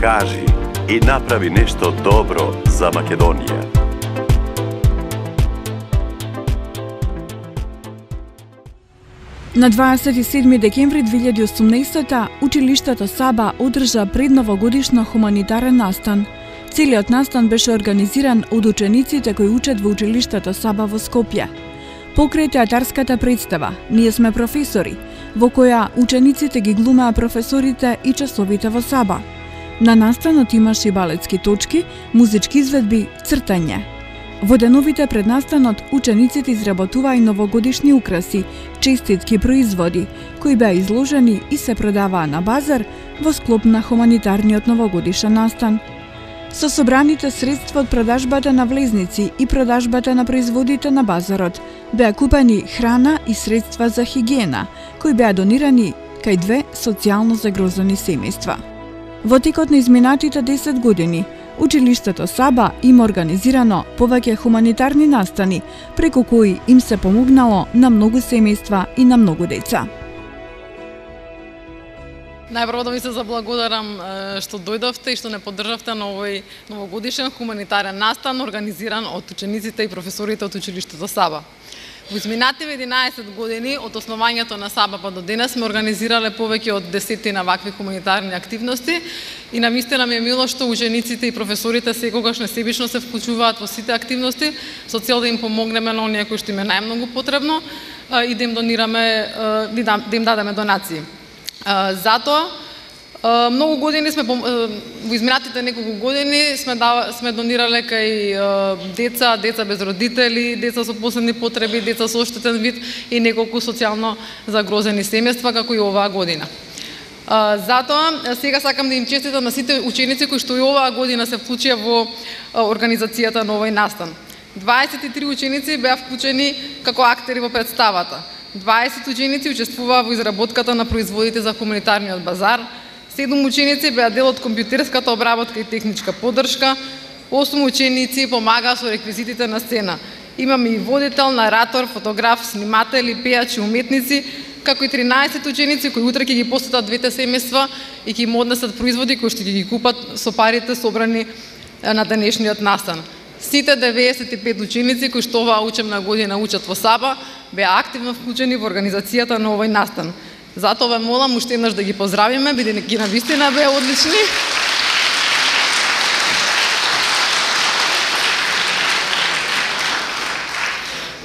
кажи и направи нешто добро за Македонија. На 27 декември 2018 училиштето Саба одржа предновогодишна хуманитарен настан. Целиот настан беше организиран од учениците кои учат во училиштето Саба во Скопје. Покрај театарската представа "Ние сме професори", во која учениците ги глумеа професорите и часовите во Саба. На настанот имаше и балетски точки, музички изведби, цртање. Во деновите пред настанот учениците изработуваа и новогодишни украси, честитки производи, кои беа изложени и се продаваа на базар во склоп на хуманитарниот новогодишен настан. Со собраните средства од продажбата на влезници и продажбата на производите на базарот беа купени храна и средства за хигиена, кои беа донирани кај 2 социјално загрозени семејства. Во текот на изминатите 10 години, училиштето Саба има организирано повеќе хуманитарни настани, преку кои им се помогнало на многу семејства и на многу деца. Најпрво да ви се заблагодарам што дојдовте и што не поддржавте на овој новогодишен хуманитарен настан организиран од учениците и професорите од училиштето Саба. Во изминативе 11 години од основањето на Саба па до денес сме организирале повеќе од 10 на вакви хуманитарни активности и навистина ми е мило што учениците и професорите секогаш несебично се вклучуваат во сите активности со цел да им помогнеме на оние кои што им е најмногу потребно и да им донираме, да им дадеме донации. Затоа многу години сме во изминатите неколку години сме донирале кај деца без родители, деца со посебни потреби, деца со оштетен вид и неколку социјално загрозени семејства како и оваа година. Затоа сега сакам да им честитам на сите ученици кои што и оваа година се вклучија во организацијата на овој настан. 23 ученици беа вклучени како актери во представата. 20 ученици учествуваа во изработката на производите за хуманитарниот базар, 7 ученици беа дел од компјутерската обработка и техничка поддршка, 8 ученици помагаа со реквизитите на сцена. Имаме и водител, наратор, фотограф, сниматели, пејачи, уметници, како и 13 ученици кои утре ќе ги посетат двете семејства и ќе им однесат производи кои што ќе ги купат со парите собрани на денешниот настан. Сите 95 ученици кои што оваа учебна година учат во Саба беа активно вклучени во организацијата на овој настан. Затоа ве молам уште еднаш да ги поздравиме, бидејќи навистина беа одлични.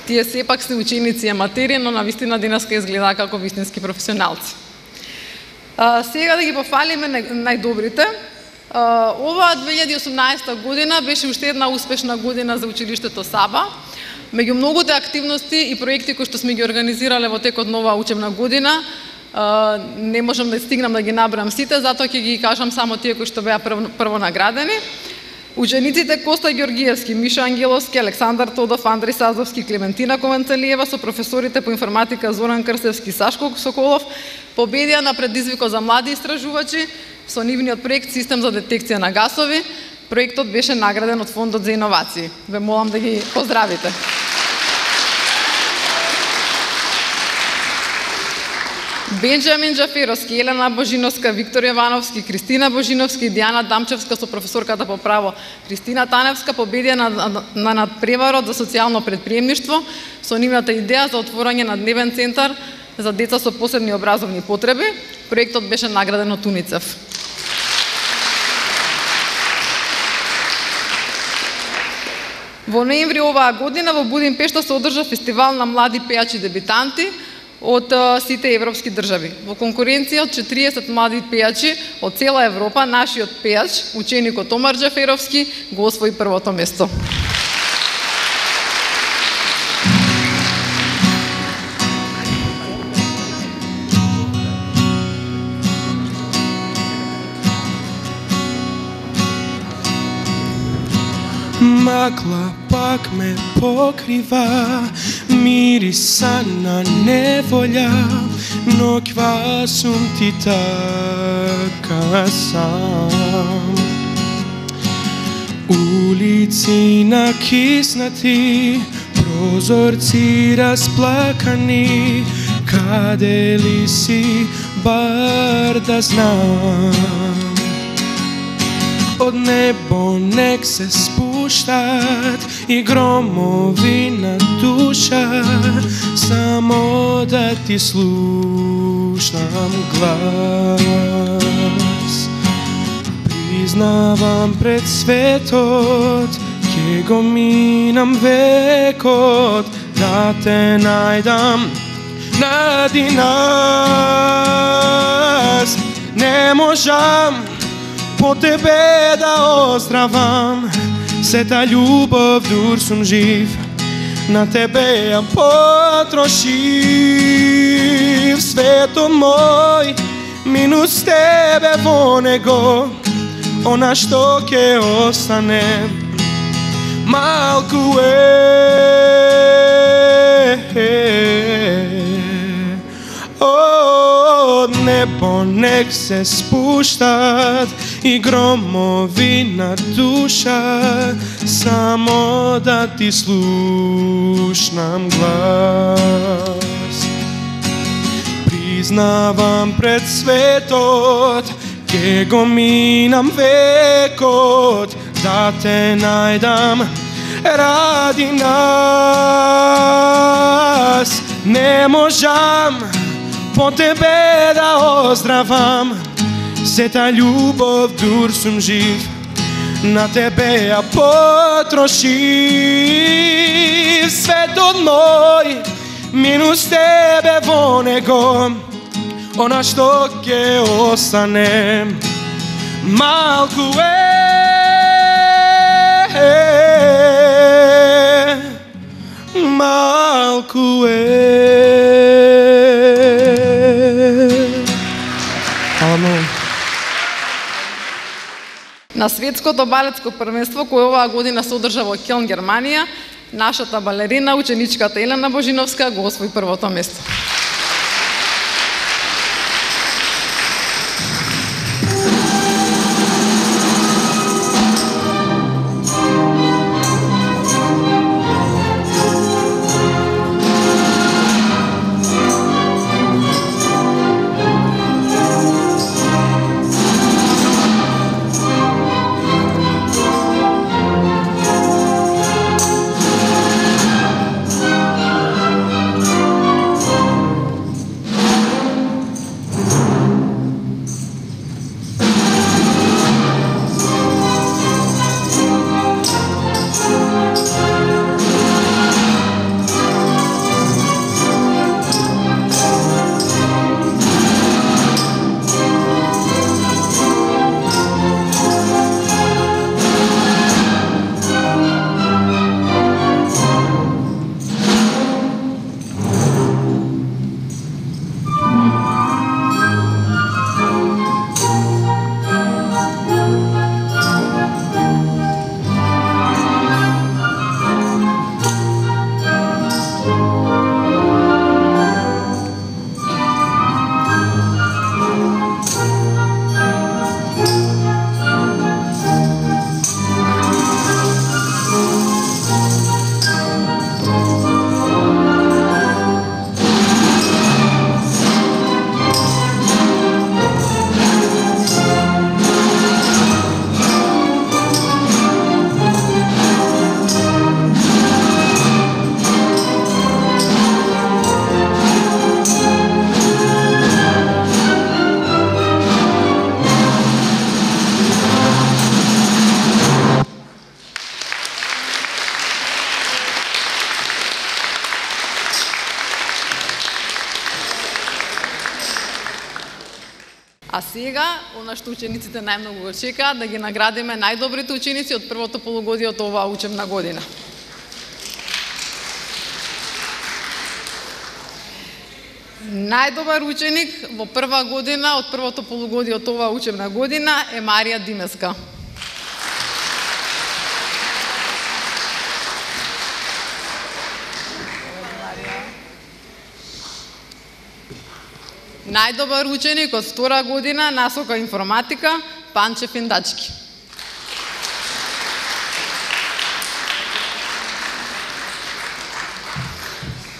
Тие сепак се ученици аматери, но навистина денеска изглеdaa како вистински професионалци. Сега да ги пофалиме најдобрите. Оваа 2018 година беше уште една успешна година за училиштето Саба. Меѓу многуте активности и проекти кои што сме ги организирале во текот на оваа учебна година, не можам да стигнам да ги набрам сите, затоа ќе ги кажам само тие кои што беа прво наградени. Учениците Коста Ѓоргиевски, Миша Ангеловски, Александар Тодов, Андреј Сазовски, Клементина Кованцелиева со професорите по информатика Зоран Крстевски и Сашко Соколов победија на предизвикот за млади истражувачи со нивниот проект Систем за детекција на гасови. Проектот беше награден од Фондот за иновации. Ве молам да ги поздравите. Бенџамин Џаферовски, Елена Божиновска, Виктор Јовановски, Кристина Божиновски и Дијана Дамчевска со професорката по право Кристина Таневска победија на надпреварот за социјално предприемништво со нивната идеја за отворање на дневен центар за деца со посебни образовни потреби. Проектот беше награден од УНИЦЕФ. Во ноември оваа година во Будимпешта се одржа фестивал на млади пејачи дебитанти од сите европски држави. Во конкуренција од 40 млади пејачи од цела Европа, нашиот пејач, ученикот Омар Џаферовски, го освои првото место. Магла пак ме покрива, мириса на неволја, ноќва сум ти така сам. Улици накиснати, прозорци расплакани, каде ли си, бар да знам. од небо нек се спуштат и громови на душа, само да ти слушнам глас. Признавам пред светот, ке го минам векот, да те најдам нади нас. Не можам по тебе да оздравам, сета љубов дур сум жив, на тебе ја потрошив. Светот мој, минус тебе во него, она што ќе остане малку од небо нек се спуштат и громови на душа, само да ти слушнам глас. Признавам пред светот, ке го минам векот, да те најдам ради нас. Не можам по тебе да оздравам, сета љубов дур сум жив, на тебе ја потрошив. Светот мој, минус тебе во него, она што ќе остане малку малку Амин. На светското балетско првенство кој оваа година се одржа во Келн, Германија, нашата балерина, ученичката Елена Божиновска, го освои првото место. А сега, она што учениците најмногу го чекаат, да ги наградиме најдобрите ученици од првото полугодие од оваа учебна година. Најдобар ученик во прва година од првото полугодие од оваа учебна година е Марија Димеска. Најдобар ученик од втора година насока информатика Панче Финдачки.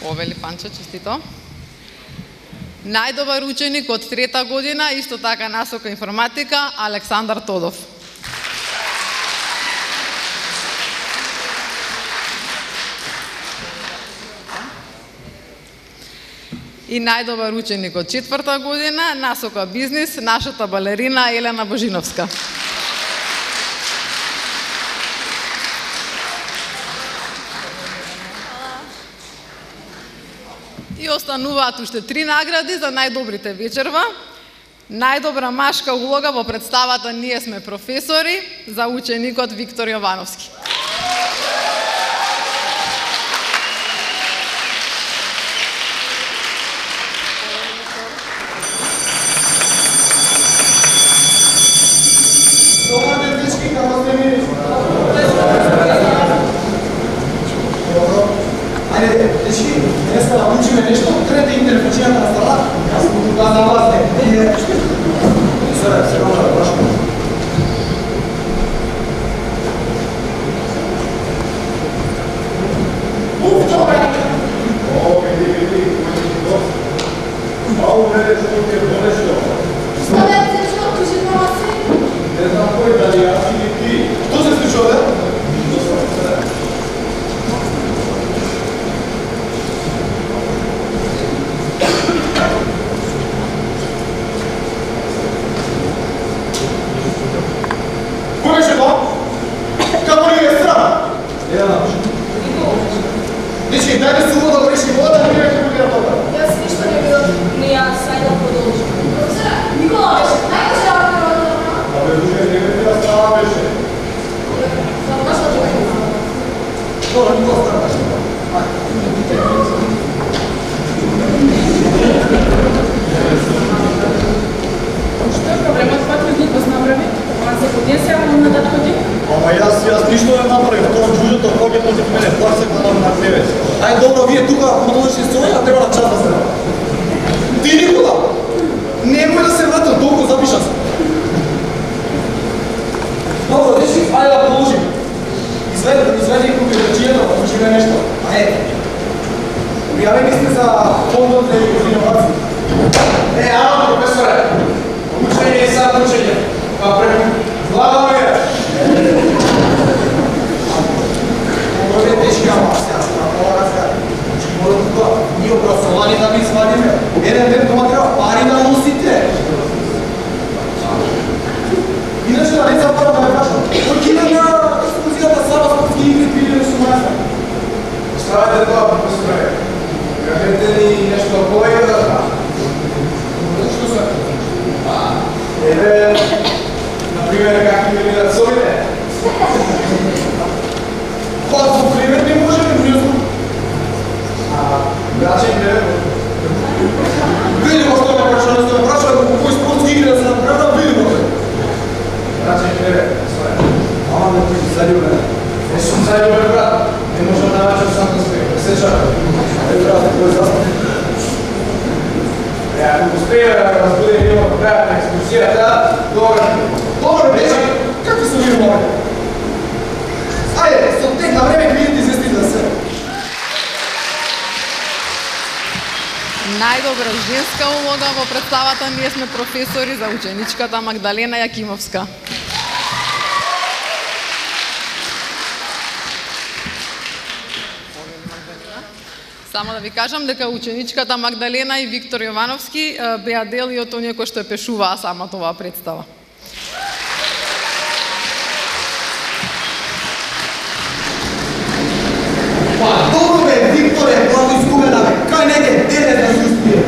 Овели Панче, честито. Најдобар ученик од трета година, исто така насока информатика, Александар Тодов. И најдобар ученик од 4-та година, насока бизнис, нашата балерина Елена Божиновска. И остануваат уште 3 награди за најдобрите вечерва. Најдобра машка улога во представата "Ние сме професори" за ученикот Виктор Јовановски. Ајде, дечки, днеска да учиме нешто, трете интерфачијата на стала, јас му тука за вас не. Се ромара, башко. Уф, добре! О, види, Мало не што ќе донешто. Што бе, зачува, кажи на си? Не знам кој, дали јас или ти. Што се случува, бе? Дечки, дај да се вода да реши вода, не веќе буди на вода. Јас ништо не видов, не јас, ајде да продолжим. Никола беше, најкаше работа на вода. Абе, душе, не веќе да става беше. Само баш да човек. Добро, Никола става беше. Што е проблемот? Кој глупост направи? Ама се годин се на да ходи? Ама јас ништо не направив, тоа джуџето кој против мене, пласе главам на тебе. Ај добро, вие тука продолжите се овој, а треба на час да се. Ти Никола, немој да се вратам, толку запиша се. Добро, дечки, ајде да продолжим. Изведи купирачијата, да учиме нешто. Ајде. Пријавени сте за фондот за иновации. Ало, професоре, учење и сад учење. Па преку глава ми е. Овде тешки амбасија, на разговор. Мора тука, ние образовани да ви свадиме. Еден ден тоа треба пари да носите. Иначе да не запарам да ја кажам. Кој ќе на екскурзијата сама спортски игри 2018? Оставете тоа, професоре. Кажете ни нешто повеќе да знам. Што се? Еве, например, какви ми видат совите. Па, за пример не можеме, пријазно. Грачен кревет. Видимо што ме прашува, во кој спортски игри да се направам, видимо тој. Грачен кревет, своја. Ама не ти заљубен. Не сум заљубен, брат. Не можам да научам сам да спеем. Сечам. Брат, кој е застан? Ако успеја да разбуде едно крајот на екскурзијата, добро беше. Какви се вие морали? Ајде, со тек на време клиенти извести за се. Најдобра женска улога во представата "Ние сме професори" за ученичката Магдалена Јакимовска. Само да ви кажам дека ученичката Магдалена и Виктор Јовановски беа дел и од оние кои што ја пешуваа самата оваа представа. Па, добро бе, Викторе, главно изгубена бе. Кај неке, денес да се успие.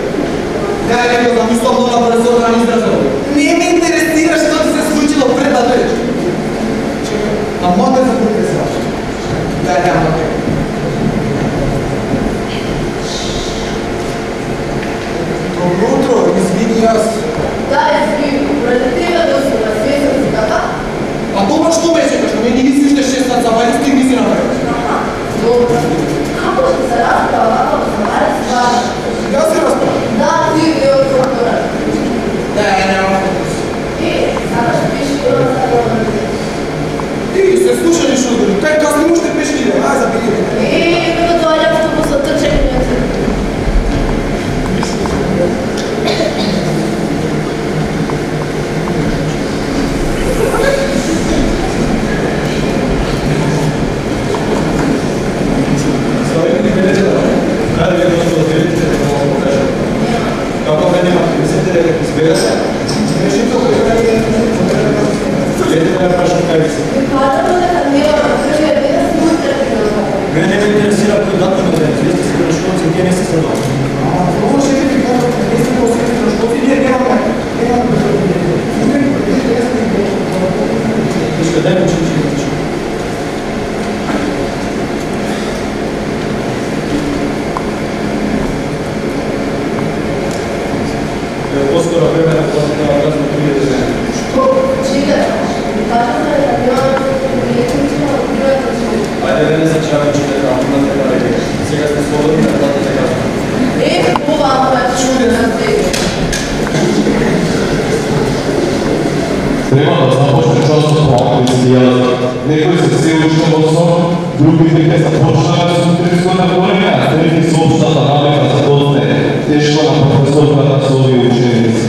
Да ја некој замислам много да се организирам. Не ме интересира што ти се случило пред да дојдеш. А може да се интересира. Да ја няма така. Добро утро, извини јас. Да, извини, пред тебе да се развесам си така? А тоа што беше, што ме ни си уште 6 сат завајно стигни си направиш. Добро. Како ще се расправа, ако се маре с важно? Јас се расправа. Да, ти е од доктора. Да, няма фокус. Сакаш пиши до нас да го Ти се слушали што дали, кај касни уште пешки идем, ај забери ме. Како тоа автобусот трчање. не се следува. Ovo šefi kako ne ste osjetili na školi, nije nemamo. Iška, daj mu čući. Poskoro vremena potrebno razno prije zemlje. Što? Čega? Kažem da je avion prijetnično odbivati život. Ajde, ne začavam čitati, a onda treba reći. Сега сте свободни да платите казна. Това е чудо за тебе. Треба да започне част од проактивизацијата. Некои се се учат во сон, другите ќе започнат со интересна време, а трети се општата навика за досне. Тешко на професорката со овие ученици.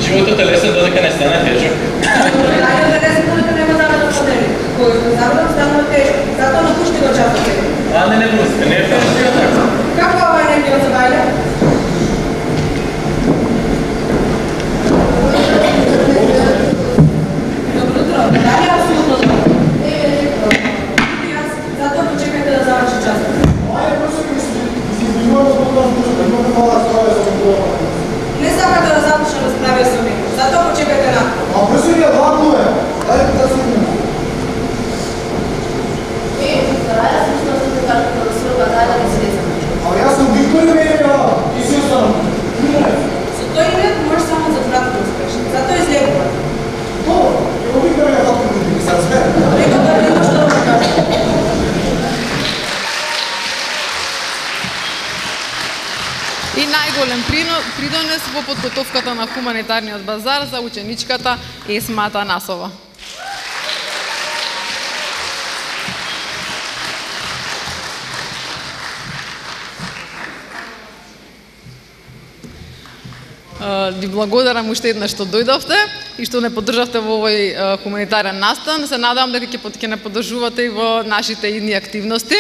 Животот е лесен додека не стане тежок. Ајде да лесен додека нема да на подели. Кој го забрав станува тежок. Затоа напушти го часот. А не пусти, не е така. Како ова не било забавно? Добро утро. Дали апсолутно добро? Затоа почекајте да заврши часот. Ајде, просто ми се извинувам зbog toga da imamo mala stvar za kontrolu. Не сакате да започне расправа со мене. Затоа почекајте на. А брзо ми ладнуве. Ајде да се видиме. Стараја се што се кажа да се базара да се А јас сум Виктор Мејева и си останам. Со тој имет може само за кратко да успеш. Затоа излегува. Добро, ево Виктор Мејева како да ми се разбере. Рекол да нема што да му кажа. И најголем придонес во подготовката на хуманитарниот базар за ученичката Есма Атанасова. Ви благодарам уште еднаш што дојдовте и што не поддржавте во овој хуманитарен настан. Се надевам дека ќе не поддржувате и во нашите идни активности.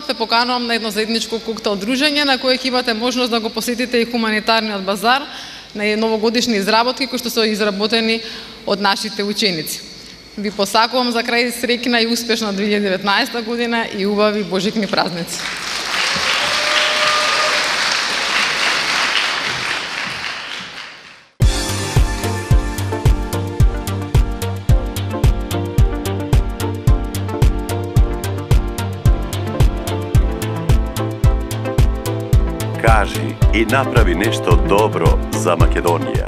Ве поканувам на едно заедничко коктел дружење на кое ќе имате можност да го посетите и хуманитарниот базар на новогодишни изработки кои што се изработени од нашите ученици. Ви посакувам за крај среќна и успешна 2019 година и убави божикни празници. Кажи и направи нешто добро за Македонија.